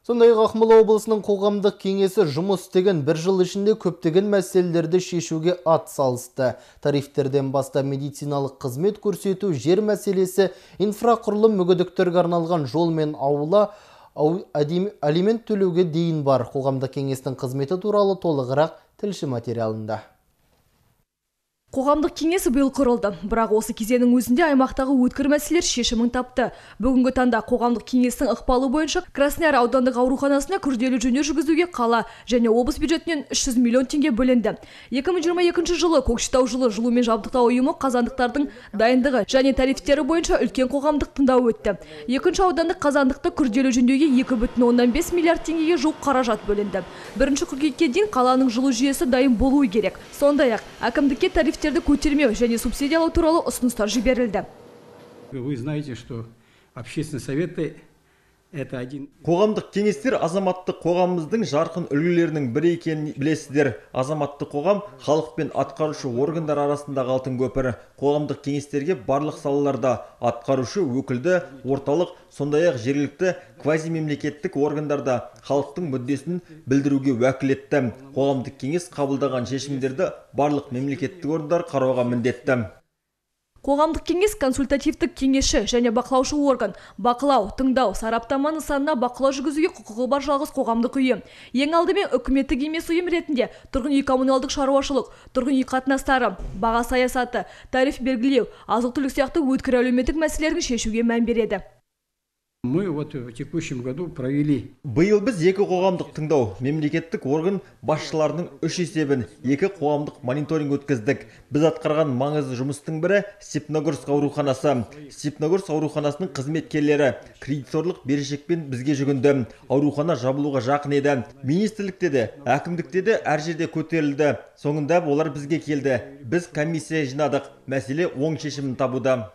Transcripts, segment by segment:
Сондай-ақ Ақмола облысының қоғамдық кеңесі жұмыс істеген бір жыл ішінде көптеген мәселелерді шешуге ат салысты. Тарифтерден баста медициналық қызмет көрсету, жер мәселесі, инфрақұрылым, мүгедектерге арналған жол мен аула, алимент төлеуге дейін бар. Қоғамдық кеңестің қызметі туралы толығырақ тілші материалында. Қоғамдық кеңесі биыл құрылды, бірақ осы кезеңнің өзінде аймақтағы өткір мәселелер шешімін тапты. Бүгінгі таңда қоғамдық кеңестің ықпалы бойынша Краснояр аудандық ауруханасына күрделі жөндеу жүргізуге қала және облыс бюджетінен 300 миллион теңге бөлінді. 2022 жылы Көкшетау жылумен жабдықтау ұйымы қазандықтардың дайындығы және тарифтері бойынша үлкен қоғамдық тыңдау өтті. Екінші аудандық қазандықты күрделі жөндеуге 2,5 миллиард теңгеге жуық қаражат бөлінді. 1 қыркүйекке дейін қаланың жылу жүйесі дайын болуы керек. Сондай-ақ әкімдікке тарифтерді көтермеу және субсидиялау туралы ұсыныстар жіберілді. Вы знаете, что общественные советы это один. Қоғамдық кеңестер азаматтық қоғамымыздың жарқын үлгілерінің бірі екенін білесіздер. Азаматтық қоғам халық пен атқарушы органдар арасындағы алтын көпір. Қоғамдық кеңестерге барлық салаларда атқарушы өкілді, орталық, сондай-ақ жергілікті квазимемлекеттік органдарда халықтың мүддесін білдіруге уәкілетті. Қоғамдық кеңес қабылдаған шешімдерді барлық мемлекеттік органдар қарауға міндетті. Қоғамдық кеңес консультативтік кеңесші және бақылаушы орган. Бақылау, тыңдау, сараптама нысанына бақылау жүргізуге құқығы бар жалғыз қоғамдық ұйым. Ең алдымен үкіметтік емес ұйым ретінде тұрғын үй коммуналдық шаруашылық, тұрғын үй қатынастары, баға саясаты, тариф белгілеу, азық-түлік сияқты өткір әлеуметтік мәселелерін шешуге мән береді. Мы в текущем году провели. Биыл біз екі қоғамдық тыңдау, мемлекеттік орган басшыларының 3 есебін, екі қоғамдық мониторинг өткіздік. Біз атқарған маңызды жұмыстың бірі Степногорск ауруханасы. Степногорск ауруханасының қызметкерлері кредиторлық берешекпен бізге жүгінді. Аурухана жабылуға жақын еді. Министрлікте де, әкімдікте де әр жерде көтерілді. Соңында олар бізге келді. Біз комиссия жинадық. Мәселе оң шешімін табуда.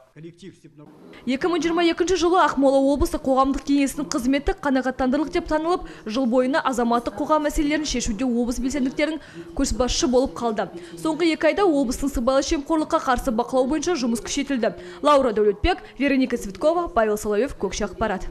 2022 жылы Ақмола облысы қоғамдық кеңесінің қызметі қанағаттандырылық деп танылып, жыл бойына азаматтық қоғам мәселелерін шешуде облыс белсенділерінің көшбасшы болып қалды. Соңғы 2 айда облыстың сыбайлас жемқорлыққа қарсы бақылау бойынша жұмыс күшейтілді. Лаура Дәулетбек, Вероника Цветкова, Павел Соловьев, Көкше ақпарат.